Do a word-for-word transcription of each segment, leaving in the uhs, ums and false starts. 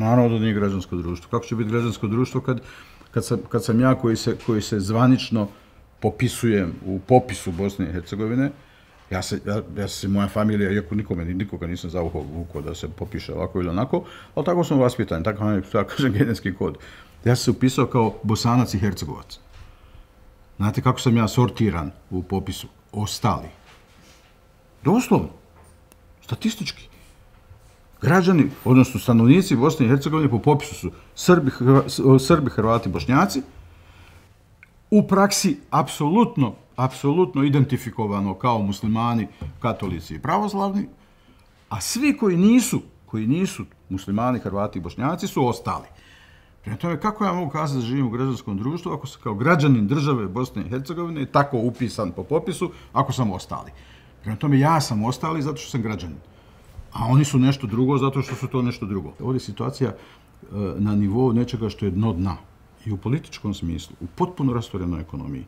Naravno da nije građansko društvo. Kako će biti građansko društvo kad, kad, sam, kad sam ja koji se, koji se zvanično popisujem u popisu Bosne i Hercegovine, ja se, ja, ja se moja familija, iako nikome, nikoga nisam zavukao vuko da se popiše ovako ili onako, ali tako sam vaspitan, tako je, tako kažem, genetski kod. Ja sam se upisao kao Bosanac i Hercegovac. Znate kako sam ja sortiran u popisu? Ostali. Doslovno. Statistički. Građani, odnosno stanovnici Bosne i Hercegovine po popisu su Srbi, Srbi, Hrvati, Bošnjaci. U praksi apsolutno, apsolutno identifikovano kao muslimani, katolici i pravoslavni, a svi koji nisu, koji nisu muslimani, Hrvati i Bošnjaci su ostali. Prema tome, kako ja mogu kazati da živim u građanskom društvu ako sam kao građanin države Bosne i Hercegovine tako upisan po popisu, ako sam ostali? Prema tome, ja sam ostali zato što sam građanin. A oni su nešto drugo zato što su to nešto drugo. Ovdje je situacija na nivou nečega što je dno dna. I u političkom smislu, u potpuno rastvorenoj ekonomiji,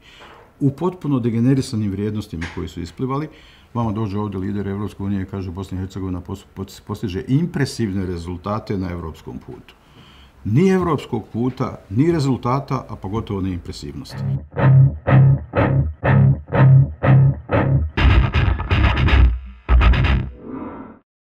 u potpuno degenerisanim vrijednostima koji su isplivali, vama dođe ovdje lider Evropske unije i kaže Bosna i Hercegovina postiže impresivne rezultate na evropskom putu. Ni evropskog puta, ni rezultata, a pogotovo ne impresivnosti.